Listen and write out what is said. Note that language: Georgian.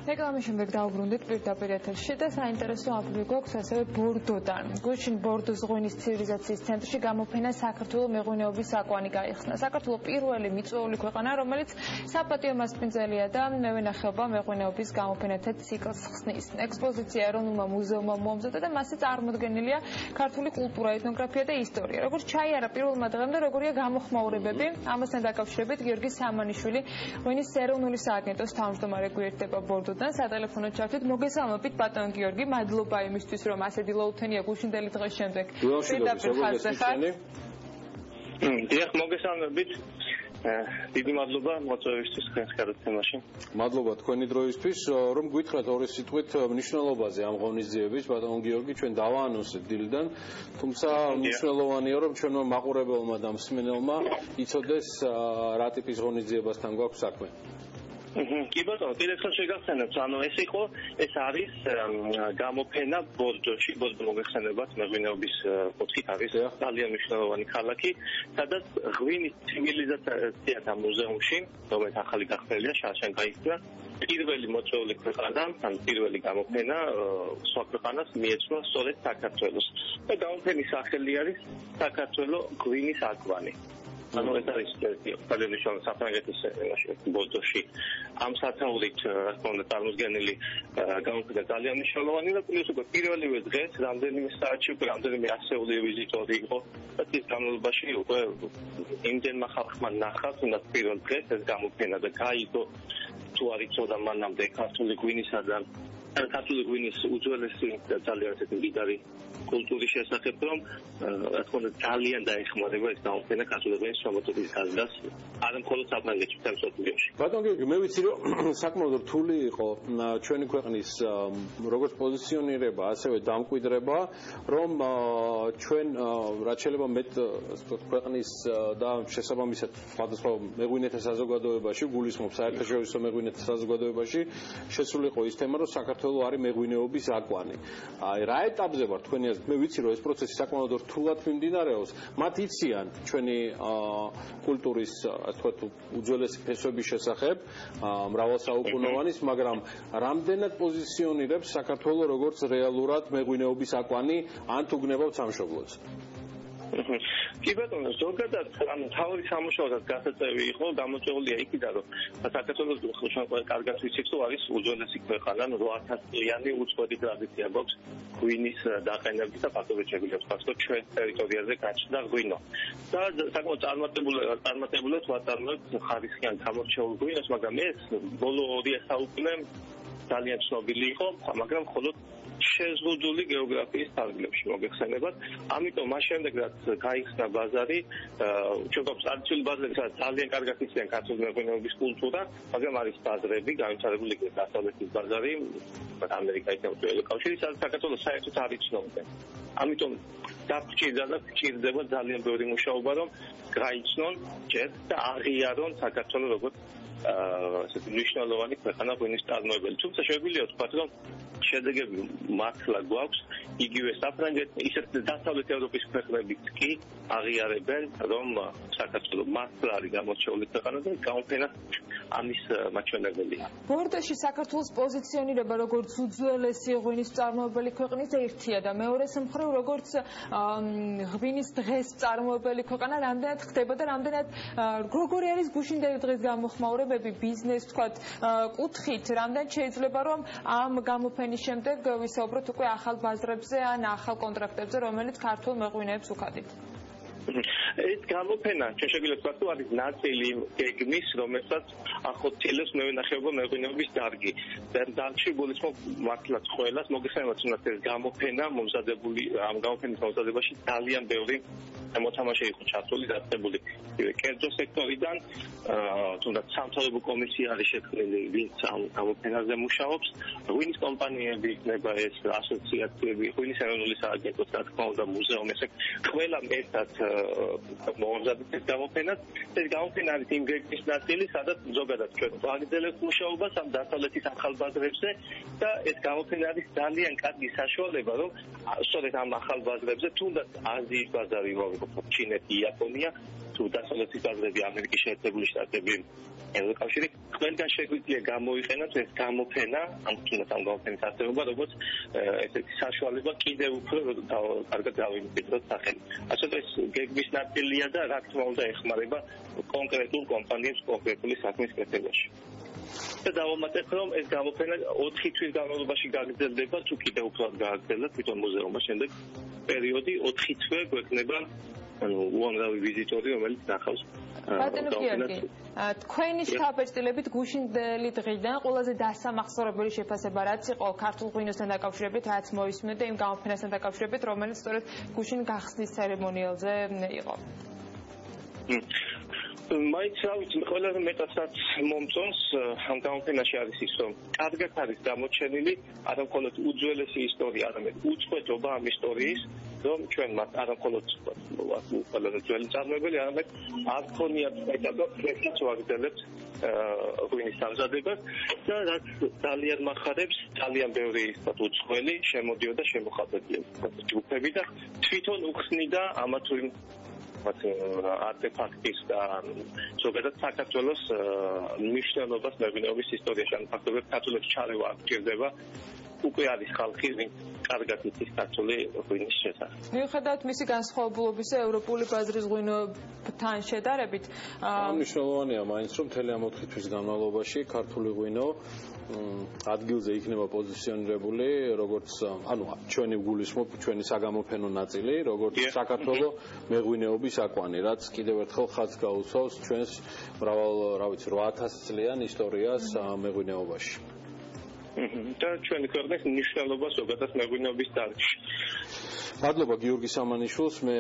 რეკლამის შემდეგ დავბრუნდით პირდაპირ ეთერში და საინტერესო აფრი გვაქვს ასევე ბორდოდან. გუშინ ბორდოს ღვინის ცივილიზაციის ცენტრში გამოფენა საქართველოს მეღვინეობის აკვანი გაიხსნა. საქართველოს პირველი მიწვეული ქვეყანა, რომელიც საპატიო მასპინძელია და მევენახეობა მეღვინეობის გამოფენათა ციკლს ხსნის. ექსპოზიცია ეროვნულმა მუზეუმმა მოამზადა და მასზე წარმოდგენილია ქართული კულტურა, ეთნოგრაფია და ისტორია. როგორც ჩაიარა პირველმა დღემდე, როგორია გამოხმაურებები, ამასთან დაკავშირებით გიორგი სამანიშვილი, ღვინის ეროვნული სააგენტოს თავმჯდომარე გვერდება ბორდოდან, სატელეფონო ჩართვით. მოგესალმებით ბატონ გიორგი, მადლობა იმისთვის, რომ ასე დილაუთენია გუშინდელი დღის შემდეგ. პირდაპირ ხაზზე ხარ? დიახ, მოგესალმებით. დიდი მადლობა მოწვევისთვის თქვენს გადაცემაში. მადლობა თქვენი დროისთვის, რომ გითხრათ ორი სიტყვით მნიშვნელობაზე ამ ღონისძიების, ბატონ გიორგი, ჩვენ დავაანონსეთ დილიდან, თუმცა მნიშვნელოვანია, რომ ჩვენმა მაყურებელმა და მსმენელმა იცოდეს რა ტიპის ღონისძიებასთან გვაქვს საქმე. კი ბატონო, კიდევ შეგახსენებთ, ეს არის გამოფენა ბორდოში, ბორდო მოგეხსენებათ, მეღვინეობის კუთხით არის ძალიან მნიშვნელოვანი ქალაქი, სადაც ღვინის ცივილიზაციათა მუზეუმში, რომელიც ახალი გახსნილია, შარშან გაიხსნა, პირველი მოწვეული ქვეყანა, ან პირველი გამოფენა სხვა ქვეყანას მიეცვა სწორედ საქართველოს. და გამოფენის სახელი არის საქართველოს ღვინის აკვანი. ანუ ეს არის ძალიან მნიშვნელოვანი საფრანგეთის ბორდოში. ამ სათაურით, რა თქმა უნდა, წარმოდგენილი გამოფენა ძალიან მნიშვნელოვანი და პლუს უკვე პირველივე დღეს რამდენიმე საათში უკვე რამდენიმე ასეული ვიზიტორი იყო და ის განმავლობაში უკვე იმდენმა ხალხმა ნახა თუნდაც პირველ დღეს ეს გამოფენა და გაიგო თუ არ იცოდა მანამდე ქართული ღვინისა და ქართული ღვინის უძველესი და ძალიან ესეთი მდიდარი კულტურის შესახებ, რომ რა თქმა უნდა ძალიან დაეხმარება ეს გამოფენა ქართული ღვინის შემოწმების გაზრდას, არა მხოლოდ საფრანგეთში, მსოფლიოში. ბატონ გიორგი, მე ვიცი, რომ საკმაოდ რთული იყო ჩვენი ქვეყნის როგორც პოზიციონირება, ასევე დამკვიდრება, რომ ჩვენ რაც შეიძლება მეტ ქვეყნის და შესაბამისად სხვადასხვა მეღვინეთა საზოგადოებაში, გულისხმობ საერთაშორისო მეღვინეთა საზოგადოებაში შესულიყო ის თემა, რომ საქართველოს არის მეღვინეობის აკვანი. აი რა ეტაპზე ვარ თქვენი აზრით? მე ვიცი, რომ ეს პროცესი საკმაოდ რთულად მიმდინარეობს. მათ იციან ჩვენი კულტურის, ასე ვთქვათ, უძველესი ფესვების შესახებ, მრავალსაუკუნოვანის, მაგრამ რამდენად პოზიციონირებს საქართველოს როგორც რეალურად მეღვინეობის აკვანი, ან თუ გნებავთ სამშობლოც? კი ბატონო, ზოგადად მთავარი სამუშაოსაც გასაწევი იყო გამოწვეულია იქიდან, რომ საქართველოს კარგად ვიცით, რომ არის უძველესი ქვეყანა, 8000 წლიანი უწყვეტი ტრადიცია გვაქვს ღვინის დაყენების და ფაქტობრივად შეგვიძლია ვთქვათ, რომ ჩვენ ტერიტორიაზე გაჩნდა ღვინო. და საკმაოდ წარმატებულად ვაწარმოებთ ხარისხიან გამორჩეულ ღვინოს, მაგრამ ეს ბოლო 2 საუკუნე ძალიან ცნობილი იყო, მაგრამ მხოლოდ შეზღუდული გეოგრაფიის ფარგლებში მოგეხსენებათ. ამიტომ მას შემდეგ რაც გაიხსნა ბაზარი, ჩვენ გვაქვს ტრადიციული ბაზრები, სადაც ძალიან კარგად იციან ქართული მეღვინეობის კულტურა, მაგრამ არის ბაზრები, განვითარებული იქნება დასავლეთის ბაზარი, ამერიკայի თემატური კავშირი, სადაც საქართველოს საერთოდ არ იცნობდნენ. ამიტომ დაგჭირდა და გჭირდება ძალიან ბევრი მუშაობა, რომ გაიცნონ ჯერ და აღიარონ საქართველოს როგორც ესეთი მნიშვნელოვანი ქვეყანა ღვინის წარმოებელი. თუმცა შეგვიძლია ვთქვათ, რომ შედეგები მართლა გვაქვს, იგივე საფრანგეთი, ისეთ დასავლეთ ევროპის ქვეყნებიც კი აღიარებენ, რომ საქართველოს მართლა არის გამორჩეული ქვეყანა და გამოფენა ამის მაჩვენებელია. ბორდოში საქართველოს პოზიციონირება როგორც უძველესი ღვინის წარმოებელი ქვეყნის ერთია და მეორე მხრივ როგორც ღვინის დღეს წარმოებელი ქვეყანა რამდენად ხდება და რამდენად როგორი არის გუშინდელი დღის გამოხმაურებები ბიზნეს თქვათ კუთხით, რამდენად შეიძლება რომ ამ გამოფენის შემდეგ ვისაუბროთ უკვე ახალ ბაზრებზე ან ახალ კონტრაქტებზე, რომელიც ქართულ მეღვინეებს უხადით. ეს გამოფენა ჩვენ შეგვიძლია ვთქვათ, რომ არის ნაწილი გეგმის, რომელსაც ახორციელებს მევენახეობა მეღვინეობის დარგი. და დარგში გულისხმობ მართლაც ყველას, მოგეხსენებათ, თუნდაც ეს გამოფენა მომზადებული, ამ გამოფენის მომზადებაში ძალიან ბევრი მოთამაშე იყო ჩართული, დაწესებული კერძო სექტორიდან, თუნდაც სამთავრობო კომისია არის შექმნილი, ვინც ამ გამოფენაზე მუშაობს, ღვინის კომპანიები იქნება ეს ასოციაციები, ღვინის ეროვნული სააგენტოს, რა თქმა უნდა, მუზეუმი, ესე ყველა ერთად მომზადეთ ეს გამოფენა. ეს გამოფენა არის იმ გეგმის ნაწილი, სადაც ზოგადად ჩვენ ვაგრძელებთ მუშაობას ამ დასავლეთის ახალ ბაზრებზე და ეს გამოფენა არის ძალიან კარგი საშუალება, რომ სწორედ ამ ახალ ბაზრებზე, თუნდაც აზიის ბაზარი, ჩინეთი, იაპონია, თუ დასავლეთის ბაზრები ამერიკის შეერთებული შტატები ევროკავშირი ყველგან შეგვიძლია გამოიყენოთ ეს გამოფენა ამ გამოფენის არსებობა როგორც ესეთი საშუალება კიდევ უფრო კარგად გავიმკვიდროთ სახელი. ასეთი ეს გეგმის ნაწილია და რა თქმა უნდა ეხმარება კონკრეტულ კომპანიებს კონკრეტული საქმის კეთებაში. და დავამატებ რომ ეს გამოფენა 4 თვის განმავლობაში გაგრძელდება თუ კიდევ უფრო გააგრძელოთ თვითონ მუზეუმმა შემდეგ პერიოდი 4 თვე გვექნება უამრავი ვიზიტორი რომელიც ნახავს ბატონო გიორგი თქვენი შთაბეჭდილებით გუშინდელი დღიდან ყველაზე დასამახსოვრებელი შეფასება რაც იყო ქართულ ღვინოსთან დაკავშირებით რაც მოისმინეთ და იმ გამოფენასთან დაკავშირებით რომელიც სწორედ გუშინ გახსნის ცერემონიალზე იყო მაინც რა ვიცი ყველაზე მეტადაც მომწონს ამ გამოფენაში არის ის რომ კარგად არის გამოჩენილი არა მხოლოდ უძველესი ისტორია არამედ უწყვეტობა ამ ისტორიის რომ ჩვენ მათ არა მხოლოდ ყველაზე ძველი წარმოებელი არამედ არ ქონიათ მეტად ფლექსიც ვაგრძელებთ ღვინის დამზადებას და რაც ძალიან მახარებს ძალიან ბევრი ისეთ უცხოელი შემოდიოდა შემოხატებილებდა ჯგუფები და თვითონ უხსნიდა ამა თუ იმ არტეფაქტის და ზოგადად საქართველოს მნიშვნელობას მეღვინეობის ისტორიაში ან ფაქტობრივად ქართულებს ჩარევა არ გჭირდება უკვე არის ხალხი ვინც კარგად იცის ქართული ღვინის შესახებ. მიუხედავად მისი განსხვავებულობისა ევროპული ბაზრის ღვინოებთან შედარებით მნიშვნელოვანია მაინც რომ მთელი ამ 4 თვის განმავლობაში ქართული ღვინო ადგილზე იქნება პოზიციონირებული როგორც ანუ ჩვენი გულისხმობ ჩვენი საგამოფენო ნაწილი როგორც საქართველოს მეღვინეობის აკვანი რაც კიდევ ერთხელ ხაზს გაუსვავს ჩვენს მრავალ რა ვიცი 8000 წლიან ისტორიას მეღვინეობაში და ჩვენი ქვეყნის მნიშვნელობა ზოგადად მეღვინეობის დარგში. მადლობა გიორგი სამანიშვილს მე